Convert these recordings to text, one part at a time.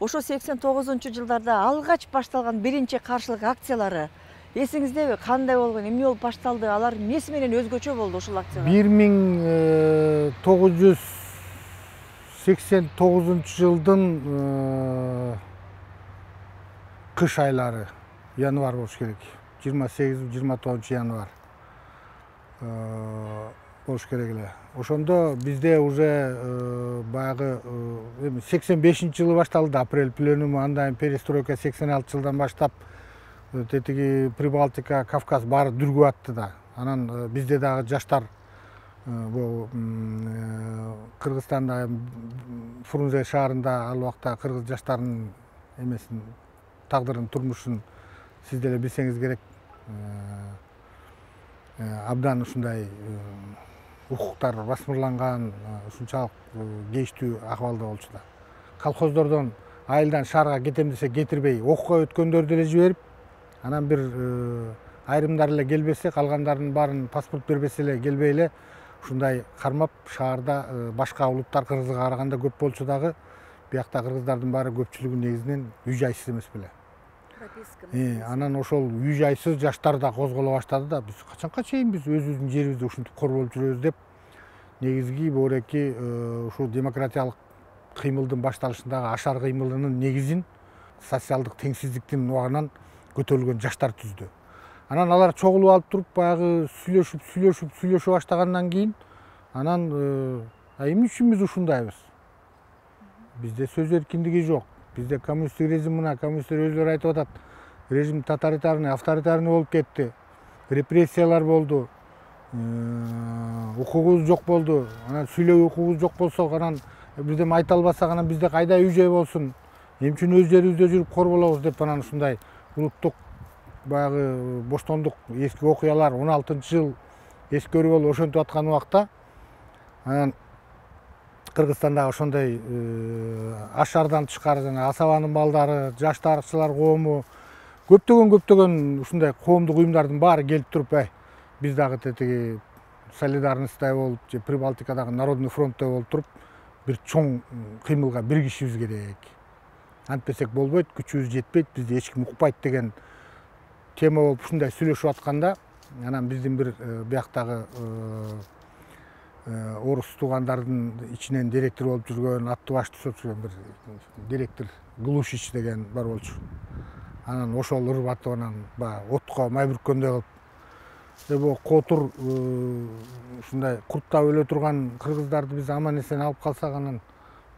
ошо 89-жылдарда алгач башталган биринчи каршылык акциялары эсиңиздеби? Кандай болгон, эмне болуп башталды? Алар эмнеси менен өзгөчө болду ушул акциялар? 1989-жылдын кыш айлары, январь болуш керек. 28-29 январь болуш керек эле. Ошондо бизде уже баягы 85-жылы башталды апрель пленуму, андан перестройка 86-жылдан баштап тетиги Прибалтика, Кавказ баары дүргүп атты да. Анан бизде дагы жаштар бул Кыргызстанда Фрунзе шаарында ал убакта кыргыз жаштарынын эмесин, тагдырын, турмушун сиз деле билсеңиз керек. Абдан ушундай укуктар басмырланган, ушунчалык кейиштүү акыбалда болчу да. Колхоздордон айылдан шаарга кетем десе кетирбей, окууга өткөндөр деле жиберип, анан бир айрымдар эле келбесе, калгандарынын баарын паспорт бербесе эле, келбей эле ушундай кармап шаарда башка улуттар кыргызга караганда көп болчу дагы. Биякта кыргыздардын баары көпчүлүгү негизинен үй жайсыз эмес беле. Анан ошол үй жайсыз жаштар да козголо баштады да. Биз качанка чейин биз өзүбүздүн жерибизди ушинтип корболуп жүрөбүз деп, негизги боореки ушул демократиялык кыймылдын башталышындагы ашар кыймылынын негизин социалдык теңсиздиктин убагынан көтөрүлгөн жаштар түздү. Анан алар чогулуп алып туруп баягы сүйлөшүп баштагандан кийин анан эмне үчүн биз ушундайбыз? Бизде сөз эркиндиги жок. Бизде коммунисттик режим, мына коммунисттер өзүлөрү айтып атат. Режим тоталитарный, авторитарный болуп кетти. Репрессиялар болду. Укугубуз жок болду. Анан сүйлөп укугубуз жок болсо, анан бирдеме айта албасак, анан бизде кайда үй жай болсун? Эмне үчүн өз жерибизде жүрүп корболобуз деп анан ушундай улуттук баягы боштондук, эски окуялар 16-жыл эскөрүү болуп ошентип аткан убакта анан Кыргызстанда ошондой ашардан тышкары жана асабанын балдары, жаштарчылар коому, көптөгөн ушундай коомдук уюмдардын баары келип туруп, биз дагы тетиги солидарностьтой болуп, же Прибалтикадагы Народный фронттой болуп туруп, бир чоң кыймылга биригишибиз керек. Антпесек болбойт, күчүбүз жетпейт, бизди эч ким укпайт деген тема болуп ушундай сүйлөшүп атканда, анан биздин бир бияктагы орус туугандардын ичинен директор болуп жүргөн, атты башты сот жүргөн бир директор Глушич деген бар болчу. Анан ошол ырбатып анан баягы отко май бүрккөндөй кылып, котур ушундай курттап өлө турган кыргыздарды биз аман эсен алып калсак, анан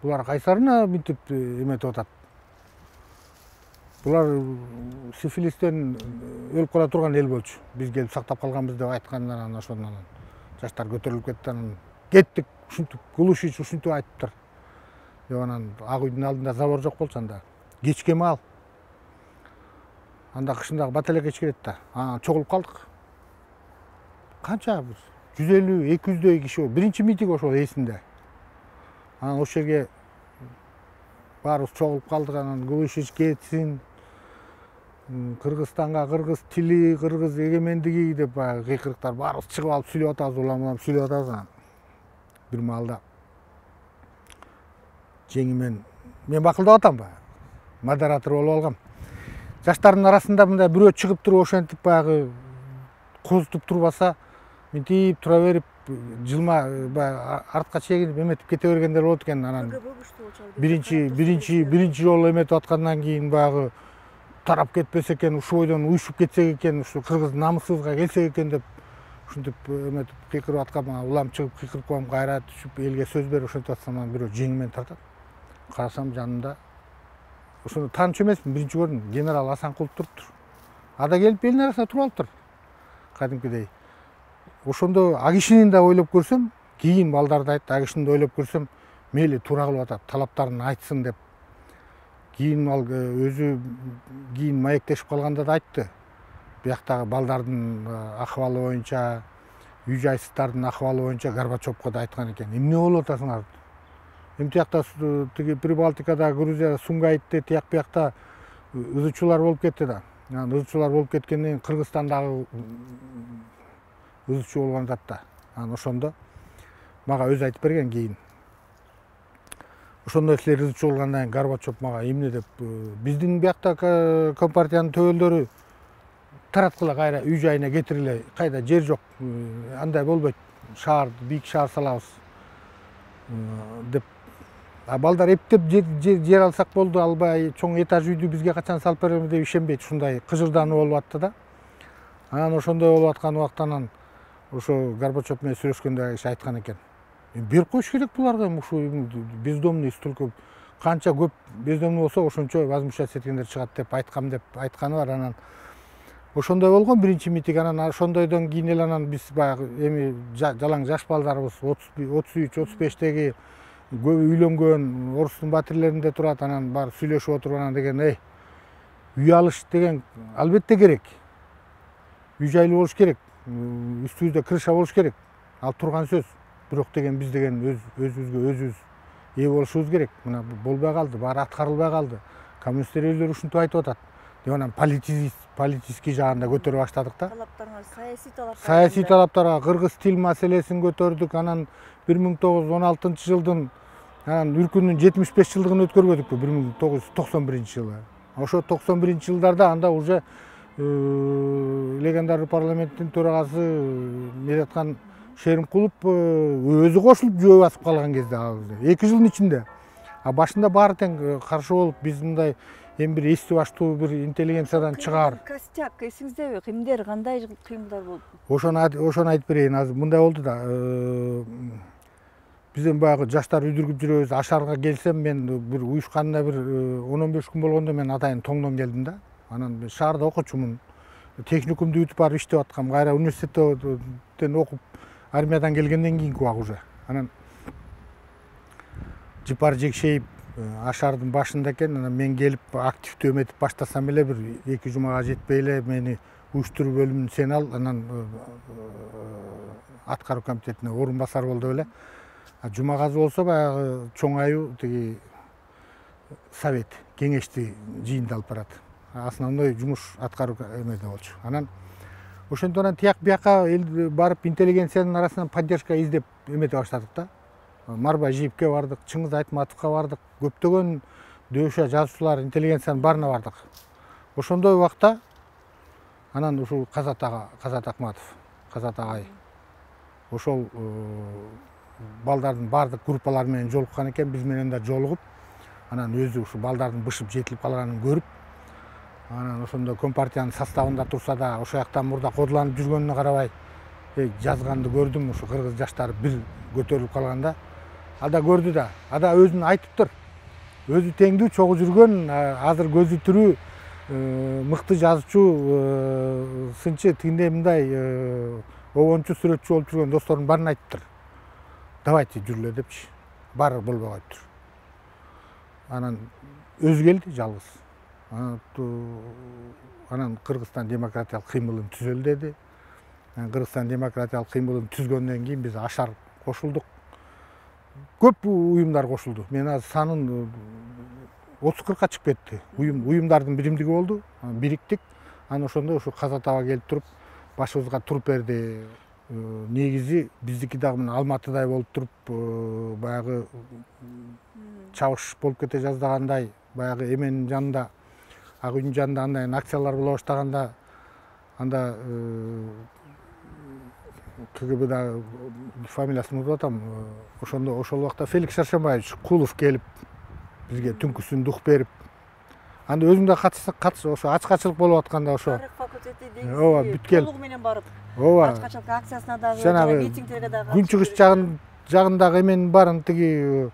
булар кайсарына мынтип эметип атат. Булар сифилистен өлүп кала турган эл болчу. Биз келип сактап калганбыз деп айткандан анан ошондон жаштар көтөрүлүп кетти, анан кеттик, ушинтип Глушич ушинтип айтыптыр. Деп анан Ак үйдүн алдында забор жок болчу анда. Кечке маал. Анда кышындагы баталек эчкирет да. Анан чогулуп калдык. Канча 150-200дөй киши болду. Биринчи митинг ошол эсимде. Анан ошол жерге баарыбыз чогулуп калдык, анан Глушич кетсин, Кыргызстанга кыргыз тили, кыргыз эгемендиги деп баягы кыйкырыктар баарыбыз чыгып алып сүйлөп атабыз, улам сүйлөп атабыз. Анан бир маалда жеңимен мен бакылдап атам баягы, модератор болуп алгам. Жаштардын арасында мындай бирөө чыгып туруп ошентип баягы козутуп турбаса, мынтип тура берип, жылма баягы артка чегинип эметип кете бергендер болот экен. Анан биринчи жолу эметип аткандан кийин баягы тарап кетпесе экен, ушул бойдон уюшуп кетсек экен, ушу кыргыз намысыбызга келсек экен деп ушинтип эметип кыйкырып аткам. Улам чыгып кыйкырып коем, кайра түшүп элге сөз берип ошентип атсам, анан бирөө жеңимен тартат. Карасам жанында ошону тааныч эмесмин, биринчи көрдүм, генерал Асанкулов туруптур. Ада келип элдин арасында туруп алыптыр. Кадимкидей. Ошондо а кишини да ойлоп көрсөм, кийин балдарды айтты, а кишини да ойлоп көрсөм, мейли туура кылып атат, талаптарын айтсын деп. Кийин ал өзү кийин маектешип калганда да айтты. Бияктагы балдардын акыбалы боюнча, үй жайсыздардын акыбалы боюнча Горбачевко да айткан экен. Эмне болуп атасыңар? Тиякта тиги Прибалтикада, Грузия, Сумгайтте тияк биякта ызычуулар болуп кетти да. Анан ызычуулар болуп кеткенден кийин Кыргызстандагы ызычуу болгон зат да. Анан ошондо мага өзү айтып берген кийин. ошондой силер ырчы болгондон кийин Горбачев мага эмне деп биздин биякта компартиянын төбөлдөрү тараткыла кайра үй жайына кетиргиле, кайда жер жок, андай болбойт, шаар бийик шаар салабыз деп. Балдар эптеп жер алсак болду, албай чоң этаж үйдү бизге качан салып беребиз деп ишенбейт, ушундай кыжырдануу болуп атты да. Анан ошондой болуп аткан убактан ошо Горбачев менен сүйлөшкөндө киши айткан экен, берип коюш керек буларга, ушу бездомный столько канча көп бездомный болсо ошончо возмущаться эткендер чыгат деп айтканы бар. Анан ошондой болгон биринчи митинг. Анан ошондойдон кийин эле анан биз баягы эми жалаң жаш балдарыбыз 33-35-теги көбү үйлөнгөн, орустун батирлеринде турат, анан бар сүйлөшүп отуруп анан деген, үй алыш деген албетте керек. Үй жайлуу болуш керек, үстүбүздө крыша болуш керек. Ал турган сөз. Бирок деген биз деген өзүбүзгө ээ болушубуз керек. Мына болбой калды, баары аткарылбай калды. Коммунисттер өздөрү ушинтип айтып атат. Деп анан политический жагында көтөрө баштадык да. Саясий талаптарга кыргыз тил маселесин көтөрдүк. Анан 1916-жылдын анан үркүнүн 75 жылдыгын өткөрбөдүкпү 1991-жылы. Ошо 91-жылдарда анда уже легендар парламенттин төрагасы Мераткан Шеримкулов өзү кошулуп жөө басып калган кезде 2 жылдын ичинде. Башында баары тең каршы болуп, биз мындай эми бир эсти баштуу бир интеллигенциядан чыгаар. Костяк эсиңиздеби? Кимдер, кандай кыймылдар болду? Ошону айтып берейин. Азыр мындай болду да. Бизден баягы жаштар үйдүргүп жүрөбүз. Ашарга келсем, мен бир уюшканына бир 10-15 күн болгондо мен атайын тоңдон келдим да. Анан шаарда окуучумун. Техникумду бүтүп барып иштеп аткам. Кайра университеттен окуп, армиядан келгенден кийинки убак уже. Анан Жыпар Жекшеев Ашардын башында экен. Анан мен келип активдүү эметип баштасам эле бир 2 жумага жетпей эле мени уюштуруу бөлүмүн сен ал, анан аткаруу комитетине орун басар болду эле. Жумагазы болсо баягы чоң аюу тиги совет, кеңешти жыйында алып барат. Основной жумуш аткаруу эмеде болчу. Анан ошентип анан тияк бияка барып интеллигенциянын арасынан поддержка издеп эмете баштадык да. Марбай Жийипке бардык, Чыңгыз Айтматовго бардык, көптөгөн дөшө жазуучулар, интеллигенциянын баарына бардык. Ошондой убакта анан ушул Казат Акматов, Казат агай ошол балдардын баардык группалары менен жолуккан экен, биз менен да жолугуп, анан өзү ушу балдардын бышып жетилип калганын көрүп, анан ошондо компартиянын составында турса да, ошол жактан мурда кодуланып жүргөнүнө карабай, жазганды көрдүм, ушу кыргыз жаштары бир көтөрүлүп калганда. Ада көрдү да, ада өзүн айтыптыр. Өзү теңдүү чогуу жүргөн, азыр көзү тирүү мыкты жазуучу, сынчы тигиндей мындай обончу сүрөтчү болуп жүргөн досторунун баарын айтыптыр. Давайте жүрүлө депчи. Баары болбой коюптур. Анан өзү келди жалгыз. Анан Кыргызстан демократиялык кыймылын түзөлү деди. Кыргызстан демократиялык кыймылын түзгөндөн кийин биз Ашар кошулдук. Көп уюмдар кошулду. Мен азыр санын 30-40 чыгып кетти. Уюмдардын биримдиги болду, бириктик. Анан ошондо ушу Казат аба келип туруп, башыбызга туруп берди. Негизи биздики дагы мына Алматыдай болуп туруп, баягы чабыш болуп кете жаздагандай, баягы эменин жанында, ак үйдүн жанында андай акциялар боло баштаганда, анда КГБда фамилиясын унутуп атам. Ошол убакта Феликс Шаршембаевич Кулов келип бизге түнкүсүн дух берип, анда өзүң да катыш, ошо ачкачылык болуп атканда ошо тарых факультети дейсиз, толугу менен барып, ачкачылык акциясына дагы, митингтерге дагы, күнчыгыш жагындагы эменин баарын тиги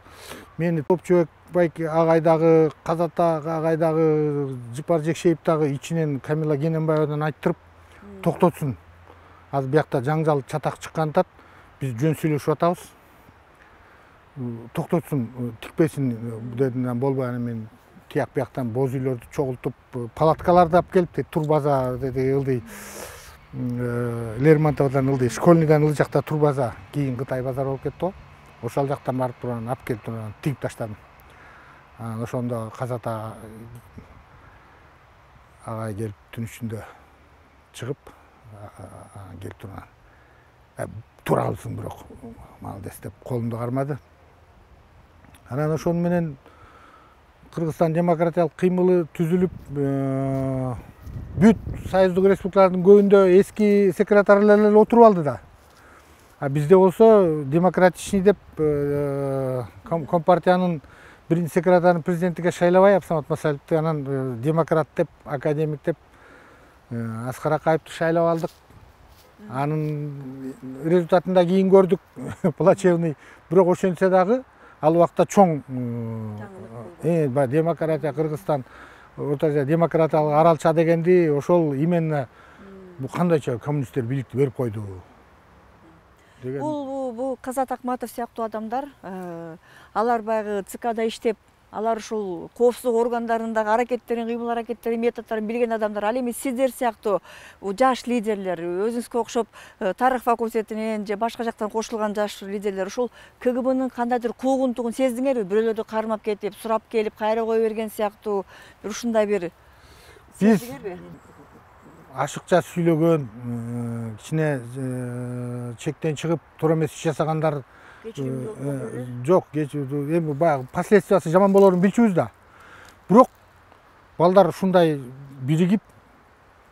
мени Топчубек байке агай дагы, Казат агай дагы, Жыпар Жекшеев дагы ичинен Камила Кененбаевадан айттырып токтотсун. Азыр биякта жаңжал чатак чыккан атат, биз жөн сүйлөшүп атабыз. Токтотсун, тикпесин дедим, болбой. Анан мен тияк бияктан боз үйлөрдү чогултуп, палаткаларды алып келип, турбаза деди, ылдый Лермонтовдон ылдый, Школьныйдан ылдый жакта турбаза, кийин Кытай базар болуп кетти го. Ошол жактан барып турган, алып келип турган, тигип таштадым. Анан ошондо Казат агай келип түн ичинде чыгып, келип турган. Тура калсын бирок, молодец деп колумду кармады. Анан ошону менен Кыргызстан демократиялык кыймылы түзүлүп, бүт союздук республикалардын көбүндө эски секретарлар отуруп алды да. А бизде болсо демократичный деп компартиянын биринчи секретарын президенттикке шайлабай Абсамат Масалевди анан демократ деп, академик деп Аскар Акаевди шайлап алдык. Анын результатында кийин көрдүк плачевный. Бирок ошентсе дагы ал убакта чоң демократия Кыргызстан Орто Азия демократиялык аралча дегенди ошол именно бул кандайча коммунисттер бийликти берип койду деген. Бул Казат Акматов сыяктуу адамдар, алар баягы ЦКда иштеп, алар ушул коопсуздук органдарындагы аракеттерин, кыймыл аракеттерин, методдорун билген адамдар. Ал эми сиздер сыяктуу жаш лидерлер, өзүңүзгө окшоп тарых факультетинен же башка жактан кошулган жаш лидерлер ушул КГБнын кандайдыр куугунтугун сездиңерби? Бирөөлөрдү кармап кетип, сурап келип, кайра кое берген сыяктуу ушундай бир сездиңерби? Ашыкча сүйлөгөн, кичине чектен чыгып туура эмес иш жасагандар жок, эми баягы последствиясы жаман болорун билчүбүз да. Бирок балдар ушундай биригип,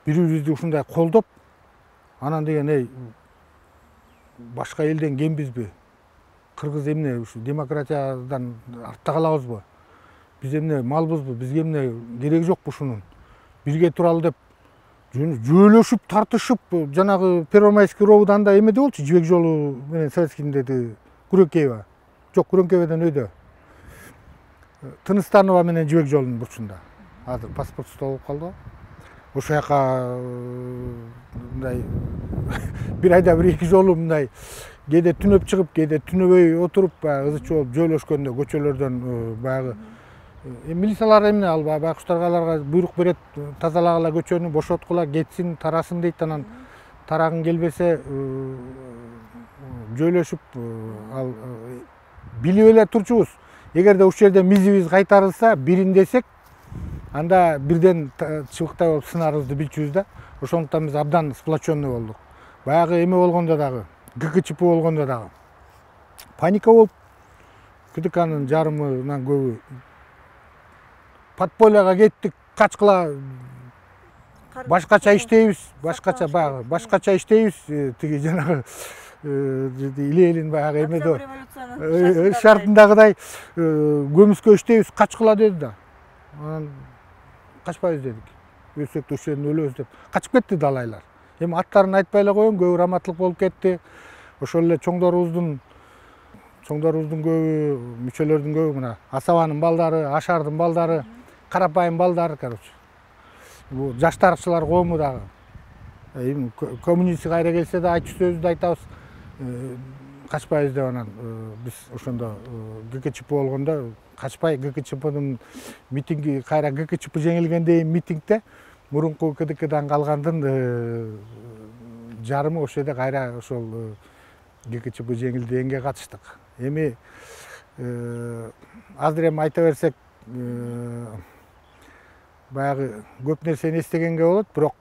бири-бирибизди ушундай колдоп, анан деген башка элден кембизби? Кыргыз эмне ушу демократиядан артта калабызбы? Биз эмне малбызбы? Бизге эмне кереги жокпу ушунун? Бирге туралы деп жөөлөшүп, тартышып, жанагы Первомайский ровуданда эмеде болчу, Жибек жолу менен Советскийдеги Күрөкеева. Жок, Күрөкееведен өйдө. Тыныстанова менен Жибек жолунун бурчунда. Азыр паспортсуз болуп калды. Ошол жака мындай бир айда бир эки жолу мындай кээде түнөп чыгып, кээде түнөбөй отуруп, баягы ызычы болуп жөөлөшкөндө көчөлөрдөн баягы милициялар эмне ал байкуштарга аларга буйрук берет, тазалагыла көчөнү, бошоткула, кетсин, тарасын дейт, анан тарагын келбесе жөөлөшүп ал билип эле турчубуз. Эгерде ушул жерде мизибиз кайтарылса, бирин десек, анда бирден чыбыктай болуп сынарыбызды билчүбүз да. Ошондуктан биз абдан сплоченный болдук. Баягы эме болгондо дагы, ГКЧП болгондо дагы паника болуп, КДКнын жарымынан көбү подпольяга кеттик, качкыла башкача иштейбиз, башкача иштейбиз, тиги жанагы Илелин баягы эмеде шартындагыдай көмүскө иштейбиз, качкыла деди да. Анан качпайбыз дедик. Өлсөк да ушул жерден өлөбүз деп качып кетти далайлар. Эми аттарын айтпай эле коеюн, көбү раматтылык болуп кетти. Ошол эле чоңдорубуздун көбү, мүчөлөрдүн көбү мына Асабанын балдары, Ашардын балдары, карапайым балдар, короче. Бул жаштарчылар коому дагы. Эми коммунист кайра келсе да айтчу сөздү айтабыз. Качпайбыз деп анан биз ошондо ГКЧП болгондо качпай ГКЧПнын митинги, кайра ГКЧП жеңилгенден митингде мурунку КДКдан калгандын жарымы ошол жерде кайра ошол ГКЧП жеңилди дегенге катыштык. Эми азыр эми айта берсек баягы көп нерсени эстегенге болот, бирок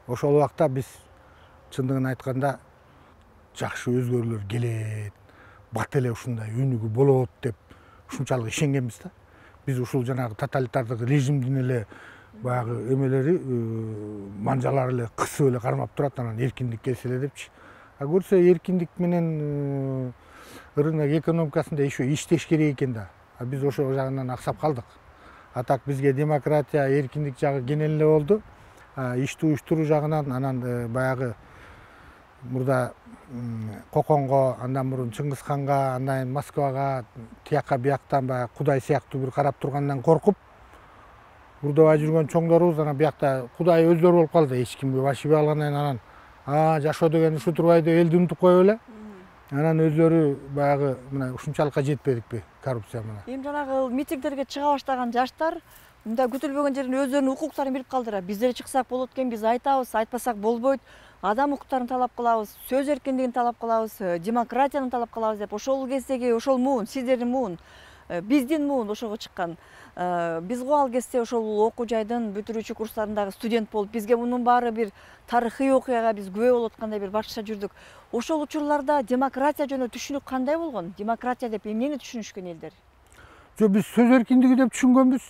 ошол убакта биз чындыгын айтканда жакшы өзгөрүүлөр келет, бат эле ушундай өнүгүү болот деп ушунчалык ишенгенбиз да. Биз ушул жанагы тоталитардык режимдин эле баягы эмелери, манжалары эле кысып эле кармап турат, анан эркиндик келсе эле депчи. А көрсө эркиндик менен рынок экономикасында еще иштеш керек экен да. А биз ошол жагынан аксап калдык. А так бизге демократия, эркиндик жагы кенен эле болду. Ишти уюштуруу жагынан анан баягы мурда Коконго, андан мурун Чыңгызханга, андан Москвага, тияка бияктан баягы Кудай сыяктуу бир карап тургандан коркуп урдабай жүргөн чоңдорубуз анан биякта Кудай өздөрү болуп калды. Эч кимге башибей алгандан анан жашоо деген ушу турбайбы деп элди унутуп коюп эле. Анан өздөрү баягы мына ушунчалыкка жетпедикпи коррупция менен. Эми жанагы митингдерге чыга баштаган жаштар мындай күтүлбөгөн жерден өздөрүнүн укуктарын билип калдыра. Биздер чыксак болот экен, биз айтабыз, айтпасак болбойт. Адам укуктарын талап кылабыз, сөз эркиндигин талап кылабыз, демократияны талап кылабыз деп ошол кездеги ошол муун, сиздердин муун биздин муун ошого чыккан. Биз го ал кезде ошол окуу жайдын бүтүрүүчү курстарындагы студент болуп, бизге мунун баары бир тарыхый окуяга биз күбө болуп аткандай бир башкача жүрдүк. Ошол учурларда демократия жөнүндө түшүнүк кандай болгон? Демократия деп эмнени түшүнүшкөн элдер? Жок, биз сөз эркиндиги деп түшүнгөнбүз.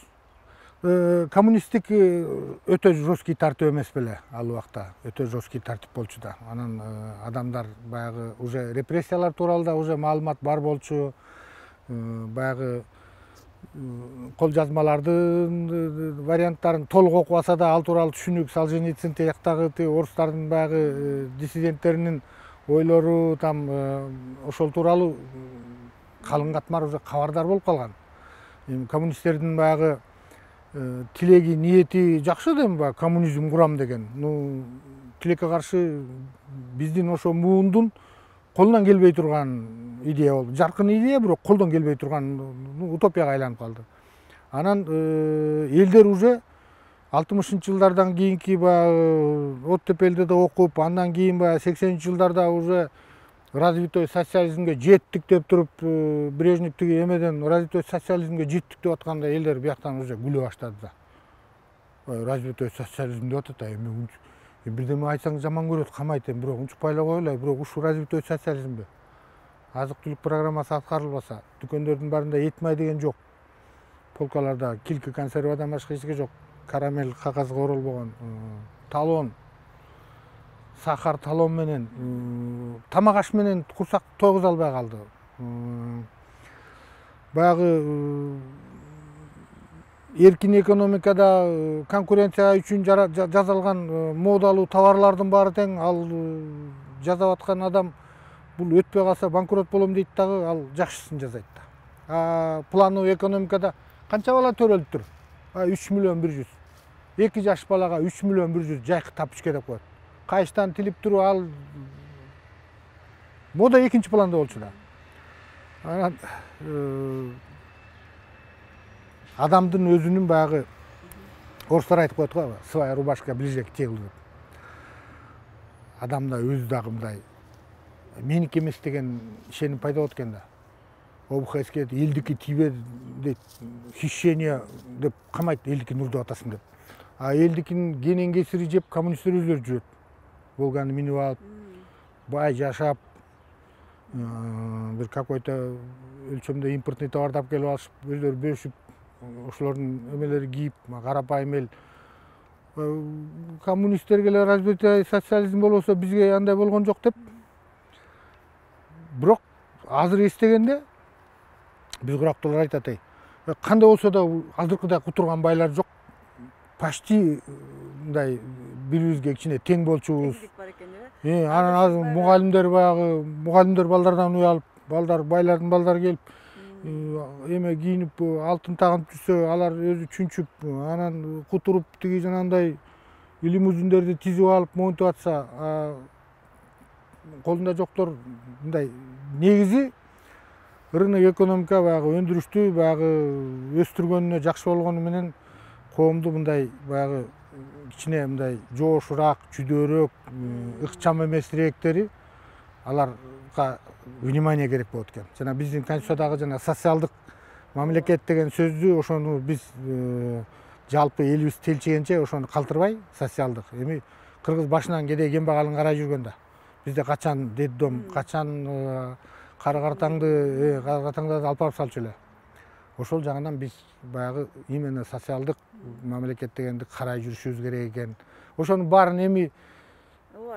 Коммунисттик өтө жесткий тартип эмес беле ал убакта, өтө жесткий тартип болчу да. Анан адамдар баягы уже репрессиялар тууралуу да уже маалымат бар болчу. Баягы кол жазмалардын варианттарын толук окубаса да ал тууралуу түшүнүк, Солженицын тияктагы орустардын баягы диссиденттеринин ойлору там ошол тууралуу калың катмар уже кабардар болуп калган. Коммунисттердин баягы тилеги, ниети жакшы да, баягы коммунизм курам деген. Тилекке каршы биздин ошо муундун колунан келбей турган идея болду. Жаркын идея, бирок колдон келбей турган утопияга айланып калды. Анан элдер уже 60-жылдардан кийинки баягы оттепелде да окуп, андан кийин баягы 80-жылдарда уже развитой социализмге жеттик деп туруп, Брежнев тиги эмеден развитой социализмге жеттик деп атканда элдер бияктан уже күлө баштады да. Развитой социализм деп атат, эми бирдеме айтсаң жаман көрөт, камайт, бирок унчук байлап коелу, бирок ушул развитой социализмби? Азык-түлүк программасы аткарылбаса, дүкөндөрдүн баарында эт май деген жок. Полкаларда килки консервадан башка эч нерсе жок. Карамель кагазга оролбогон, талон, сахар талон менен, тамак аш менен курсак тойгуза албай калды. Баягы эркин экономикада конкуренция үчүн жасалган модалуу товарлардын баары тең, ал жасап аткан адам бул өтпөй калса банкрот болом дейт дагы, ал жакшысын жасайт да. Плановый экономикада канча бала төрөлүп тур? 3 миллион 100. 2 жаш балага 3 миллион 100 жайкы тапчке деп коет. Кайчтан тилип туруп, ал мода экинчи планда болчу да. Анан адамдын өзүнүн баягы орустар айтып коет го, своя рубашка ближе к телу деп. Адамда өзү дагы мындай меники эмес деген ишеним пайда болот экен да. ОБХС элдики тийбе дейт, хищение деп камайт, элдикин урдуп атасың деп. Элдикин кенен кесири жеп коммунисттер өздөрү жүрөт. Волганы минип алып, бай жашап, бир какой-то өлчөмдө импортный товарды алып келип алышып, өздөрү бөлүшүп, ошолордун эмелери кийип, карапайым эл. Коммунисттерге эле развитый социализм болбосо бизге андай болгон жок деп. Бирок азыр эстегенде биз курактуулар айтат, кандай болсо да азыркыдай кутурган байлар жок. Почти мындай бири-бирибизге кичине тең болчубуз. Анан азыр мугалимдер баягы мугалимдер балдардан уялып, балдар байлардын балдары келип, эме кийинип, алтын тагынып жүрсө, алар өзү чүнчүп, анан кутуруп тиги жанагындай лимузиндерди тизип алып монтип атса, колунда жоктор мындай негизи рынок экономика баягы өндүрүштү баягы өстүргөнүнө жакшы болгону менен коомду мындай баягы кичине мындай жоошураак, чүдөөрөөк, ыкчам эмесирээктери аларга внимание керек болот экен. Жана биздин конституциядагы жана социалдык мамлекет деген сөздү, ошону биз жалпы элибиз телчегенче ошону калтырбай, социалдык. Эми кыргыз башынан кедей кембагалын карай жүргөн да. Бизде качан детдом, качан кара-картаңды алып барып салчу эле. Ошол жагынан биз баягы именно социалдык мамлекет дегенди карай жүрүшүбүз керек экен. Ошонун баарын эми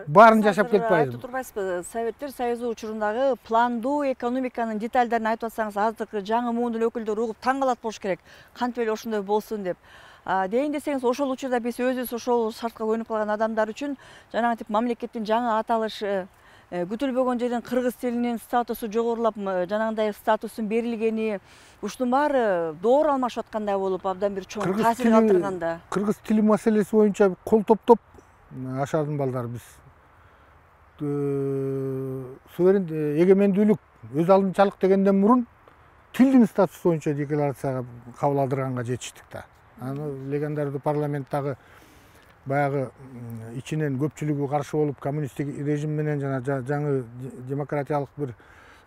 баарын жашап кетпайбыз. Айтып турбайсызбы, Советтер Союзу учурундагы пландуу экономиканын детальдерин айтып атсаңыз, азыркы жаңы муундун өкүлдөрү угуп таң калат болуш керек. Кантип эле ошондой болсун деп. Дейин десеңиз, ошол учурда биз өзүбүз ошол шартка көнүп калган адамдар үчүн жанагы тип мамлекеттин жаңы аталышы, күтүлбөгөн жерден кыргыз тилинин статусу жогорулап, жанагындай статустун берилгени, ушунун баары доор алмашып аткандай болуп, абдан бир чоң таасир калтырганда. Кыргыз тили маселеси боюнча кол топтоп ашардын балдар биз. Суверен эгемендүүлүк, өз алдынчалык дегенден мурун тилдин статусу боюнча декларацияга кабыл алдырганга жетиштик да. Аны легендардуу парламенттагы баягы ичинен көпчүлүгү каршы болуп, коммунисттик режим менен жана жаңы демократиялык бир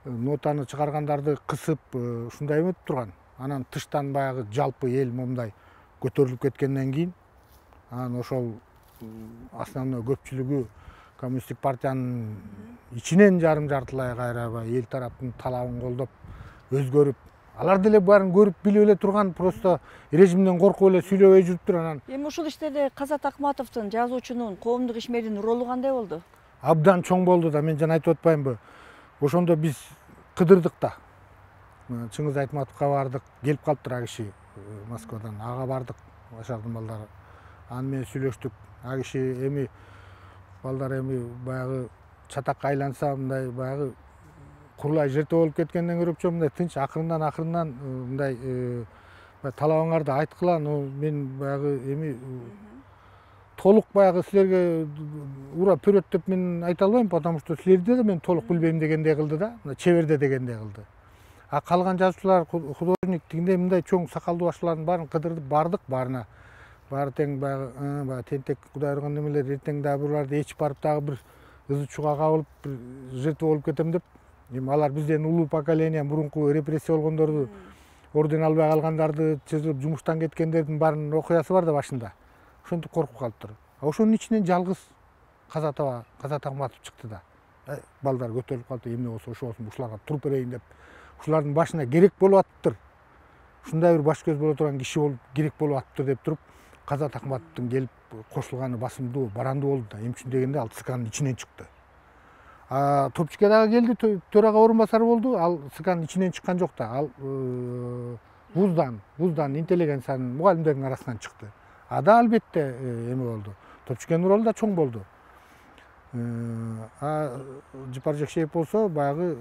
нотаны чыгаргандарды кысып, ушундай эметип турган. анан тыштан баягы жалпы эл момундай көтөрүлүп кеткенден кийин анан ошол основной көпчүлүгү коммунисттик партиянын ичинен жарым жартылай кайра эл тараптын талабын колдоп өзгөрүп, алар деле баарын көрүп билип эле турган, просто режимден коркуп эле сүйлөбөй жүрүптүр. Анан эми ушул иштерде Казат Акматовдун, жазуучунун, коомдук ишмердин ролу кандай болду? Абдан чоң болду да, мен жана айтып атпаймынбы? Ошондо биз кыдырдык да. Чыңгыз Айтматовго бардык, келип калыптыр а киши Москвадан. Ага бардык, Башардын балдары. Аны менен сүйлөштүк. А киши эми балдар эми баягы чатакка айланса, мындай баягы курулай жерте болуп кеткенден көрөкчө мындай тынч акырындан мындай талабыңарды айткыла. Мен баягы эми толук баягы силерге ура вперед деп мен айта албайм, потому что силерди да мен толук билбейм дегендей кылды да, чеберде дегендей кылды. А калган жазуучулар, художник тигиндей мындай чоң сакалдуу башчылардын баарын кыдырдып бардык, баарына. Баары тең баягы тентек Кудай урган немелер, эртең дагы буларды ээчип барып дагы бир ызы чууга кабылып бир жертва болуп кетем деп. Эми алар бизден улуу поколение, мурунку репрессия болгондорду, орден албай калгандарды, чыжылып жумуштан кеткендердин баарынын окуясы бар да башында. Ошентип коркуп калыптыр. Ошонун ичинен жалгыз Казат Акматов чыкты да. Балдар көтөрүлүп калды, эмне болсо ошо болсун, ушуларга туруп берейин деп. Ушулардын башына керек болуп атыптыр. Ушундай бир баш көз боло турган киши болуп керек болуп атыптыр деп туруп, Казат Акматовдун келип кошулганы басымдуу, барандуу болду да. Эмне үчүн дегенде ал ЦКнын ичинен чыкты. Топчике дагы келди, төрага орун басары болду. Ал ЦКнын ичинен чыккан жок да. Ал вуздан интеллигенциянын, мугалимдердин арасынан чыкты. Ада албетте эме болду. Топчикенин ролу да чоң болду. Жыпар Жекшеев болсо баягы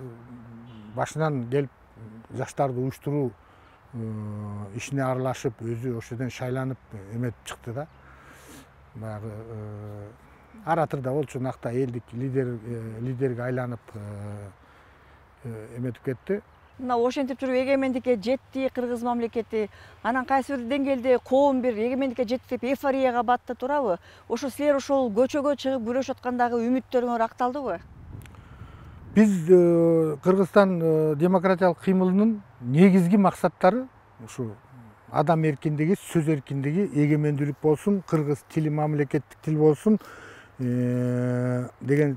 башынан келип жаштарды уюштуруу ишине аралашып, өзү ошол жерден шайланып эметип чыкты да. Баягы оратор да болчу, накта элдик лидерге айланып эметип кетти. Мына ошентип туруп эгемендикке жетти кыргыз мамлекети, анан кайсы бир деңгээлде коом бир эгемендикке жетти деп эйфорияга батты турабы? Ошо силер ошол көчөгө чыгып күрөшүп аткандагы үмүттөрүңөр акталдыбы? Биз Кыргызстан демократиялык кыймылынын негизги максаттары ушу адам эркиндиги, сөз эркиндиги, эгемендүүлүк болсун, кыргыз тили мамлекеттик тил болсун деген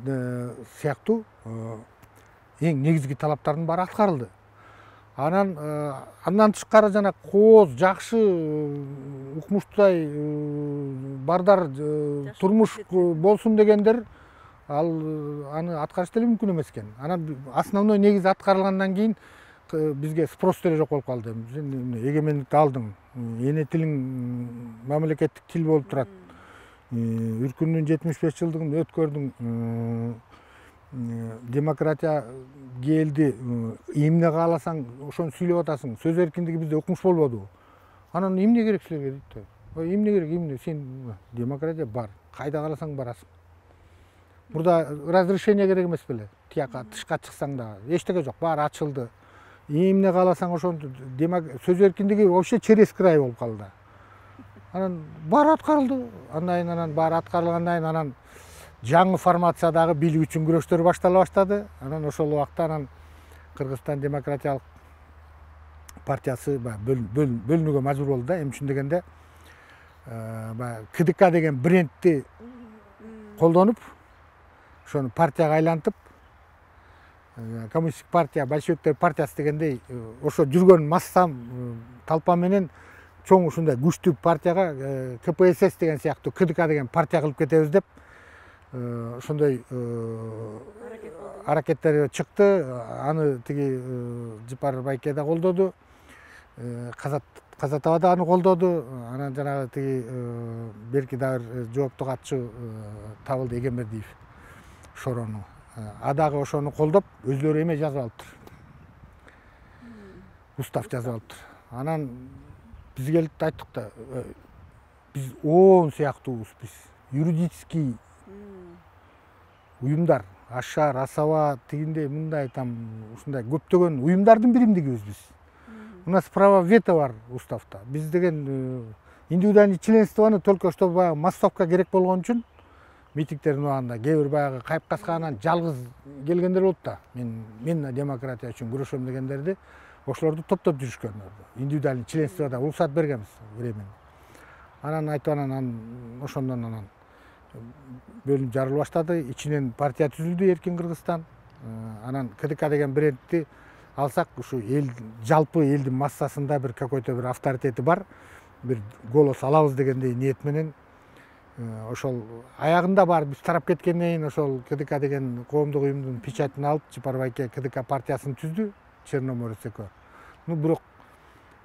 сыяктуу эң негизги талаптардын баары аткарылды. Андан тышкары жана кооз, жакшы, укмуштуудай бардар турмуш болсун дегендер аны аткарыш деле мүмкүн эмес экен. Анан основной негизи аткарылгандан кийин бизге спрос деле жок болуп калды. Сен эгемендикти алдың, эне тилиң мамлекеттик тил болуп турат. Үркүндүн 75 жылдыгын өткөрдүң, демократия келди, эмне кааласаң ошону сүйлөп атасың. Сөз эркиндиги бизде укмуш болбодубу? Анан эмне керек силерге дейт. Эмне керек, эмне? Сен демократия бар, кайда кааласаң барасың. Мурда разрешение керек эмес беле? Тияка тышка чыксаң да эчтеке жок, баары ачылды. Эмне кааласаң ошону, сөз эркиндиги вообще через край болуп калды. Анан баары аткарылды. Анан баары аткарылгандан кийин анан жаңы формациядагы бийлик үчүн күрөштөр баштала баштады. Анан ошол убакта анан Кыргызстан демократиялык партиясы бөлүнүүгө мажбур болду да. Эмне үчүн дегенде КДК деген брендти колдонуп, ошону партияга айлантып, коммунисттик партия, большевиктер партиясы дегендей ошо жүргөн массам толпа менен чоң ушундай күчтүү партияга КПСС деген сыяктуу КДК деген партия кылып кетебиз деп ошондой аракеттер чыкты. Аны тиги Жыпар байке да колдоду, Казатова да аны колдоду. Анан жанагы тиги берки дагы жоопту катчу табылды, Эгембердиев Шорону. Дагы ошону колдоп, өзлөрү эме жазып алыптыр. Устав жазып алыптыр. Анан биз келип айттык да, биз ООН сыяктуубуз, биз юридический уюмдар, Ашар, Асаба, тигиндей, мындай там ушундай көптөгөн уюмдардын биримдигибиз биз. У нас право вето бар уставда. Биз деген индивидуальный членствону только что баягы массовка керек болгон үчүн митингтердин убагында кээ бир баягы кайып касканан жалгыз келгендер болот да. Мен демократия үчүн күрөшөм дегендерди ошолорду топтоп жүрүшкөн. Индивидуальный членствода уруксат бергенбиз временно. Анан айтып анан ошондон анан бөлүнүп жарыла баштады. Ичинен партия түзүлдү Эркин Кыргызстан. Анан КДК деген брендти алсак, ушу эл жалпы элдин массасында бир какой-то бир авторитети бар, бир голос алабыз дегендей ниет менен ошол аягында барып биз тарап кеткенден кийин ошол КДК деген коомдук уюмдун печатын алып Чапаров айке КДК партиясын түздү, Черноморец экөө. Бирок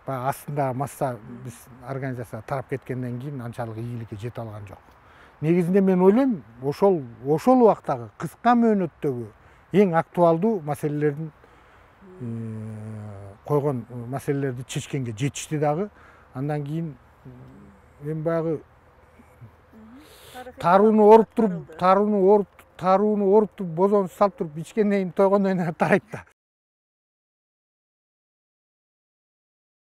баягы астында масса биз организация тарап кеткенден кийин анчалык ийгиликке жете алган жок. Негизинде мен ойлойм, ошол убактагы кыска мөөнөттөгү эң актуалдуу маселелердин койгон маселелерди чечкенге жетишти дагы. Андан кийин мен баягы тарууну оруп туруп бозоонду салып туруп ичкенден кийин тойгондон кийин тарайт да.